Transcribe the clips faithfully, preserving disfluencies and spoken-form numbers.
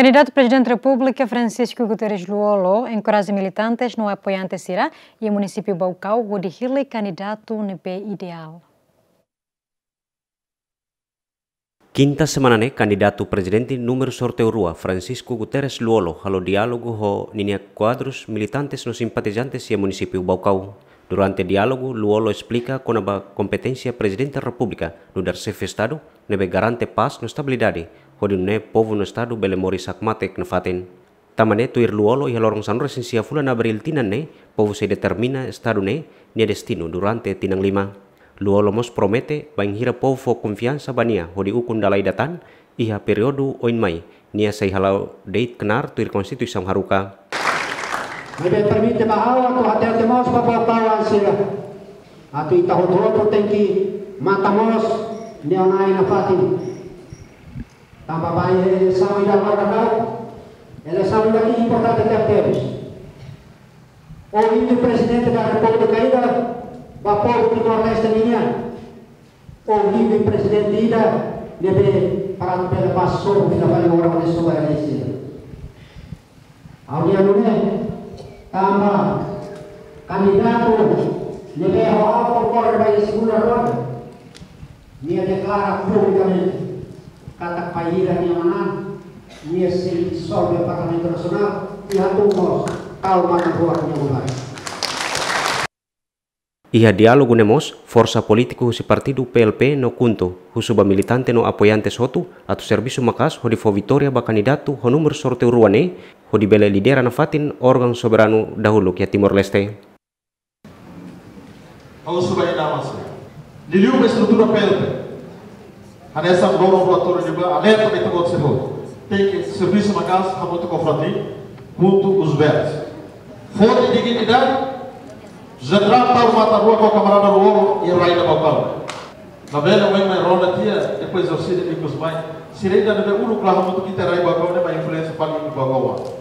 Kandidatu Prezidente Repúblika Francisco Guterres Lú-Olo enkoraja militantes no apoiante sira iha munisípiu Baucau hodi hili kandidatu ne'ebé ideál. Kinta semana ne'e, kandidatu prezidente númeru sorteiu rua, Francisco Guterres Lú-Olo, halo diálogu ho ninia kuadrus, militantes no simpatizantes iha munisípiu Baucau. Durante diálogu, Lú-Olo esplika kona-ba kompeténsia Prezidente Repúblika nu'udar xefe Estadu ne'ebé garante pás no estabilidade, hodi nune'e povu no Estadu bele moris hakmatek nafatin. Tanba ne'e, tuir Lú-Olo, iha loron sanulu-resin-sia fulan Abríl tinan ne'e, povu sei determina Estadu ne'e nia destinu durante tinan lima. Lú-Olo mós promete bainhira povu fó konfiansa ba nia hodi ukun dala ida tan iha períodu oin mai, nia sei hala'o de'it knaar tuir Konstituisaun haruka. Ne'ebé permite ba ha'u atu hatete mós ba povu Baucau sira, atu ita hotu-hotu tenke matan mós neon-na'in nafatin. Tanba ba eleisaun ida agora daudaun, eleisaun ida ne'e importante tebetebes. Ohin Prezidente da Repúblika ida ba povu Timor-Leste nian, ohin prezidente ida ne'ebé para bele ba sobu fila fali oras ne'e sobu eleisaun. Ha'u-nia nune'e, tanba kandidatu ne'ebé ha'u konkorre ba iha segunda ronda, nia deklara publikamente katak bainhira nia manán, nia sei disolve Parlamentu Nasionál, i hatún mós tau matan-ruak nia governu. Iha diálogu ne'e mós, forsa polítiku husi partidu P L P no KHUNTO husu ba militante no apoiantes hotu atu servisu maka'as hodi fó vitória ba kandidatu ho númeru sorteiu rua ne'e, hodi bele lidera nafatin órgaun soberanu dahuluk iha Timor-Leste. Ha'u husu ba ema sira, liuliu ba estrutura P L P, hanesan dono relatóriu ne'ebá, alerta ba ita-boot sira hotu. Tenke servisu maka'as hamutuk ho FRETILIN, KHUNTO, Os Verdes. Foti dignidade, Jenerál tau matan-ruak ho kamarada Lú-Olo iha rai ida Baucau. Labele oin mai ronda tiha, depois orsida ikus mai. Sira ida ne'ebé uluk la hamutuk ho ita iha rai Baucau ne'e mai influénsia fali iha Baucau.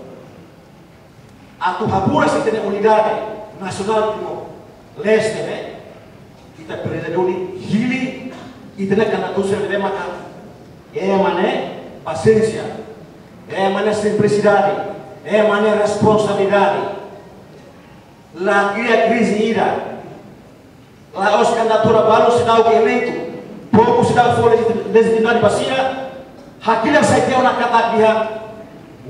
Atu haburas ita-nia unidade nasionál Timor-Leste ne'e, ita presiza duni hili ita-nia kandidatu sira ne'ebé maka ema ne'e pasiénsia, ema ne'e simplisidade, ema ne'e responsabilidade. La kria krize ida. La'ós kandidatura balu seidauk eleitu, povu seidauk fó legiti-, lejitimidade ba sira, hakilar sai tiha ona katak dehan,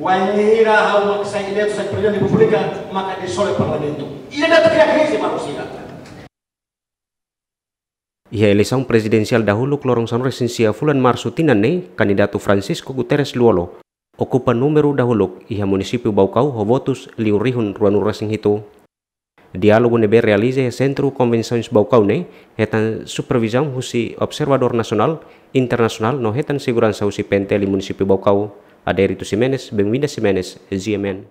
wainhira ha'u mak sai eleitu sai Prezidente Repúblika, maka disolve Parlamentu. Ida-ne'e atu kria krize ba sira. Iha eleisaun prezidensiál dahuluk loron sanulu-resin-sia fulan Marsu tinan ne'e, kandidatu Francisco Guterres Lú-Olo okupa númeru dahuluk iha munisípiu Baucau ho votus liu rihun ruanulu-resin-hitu. Diálogu ne'ebé realiza iha Sentru Konvensoens Baucau ne'e hetan supervizaun husi observadór nasionál, internasionál no hetan seguransa husi P N T L munisípiu Baucau. Adérito Ximenes, Benvinda Ximenes, G M N.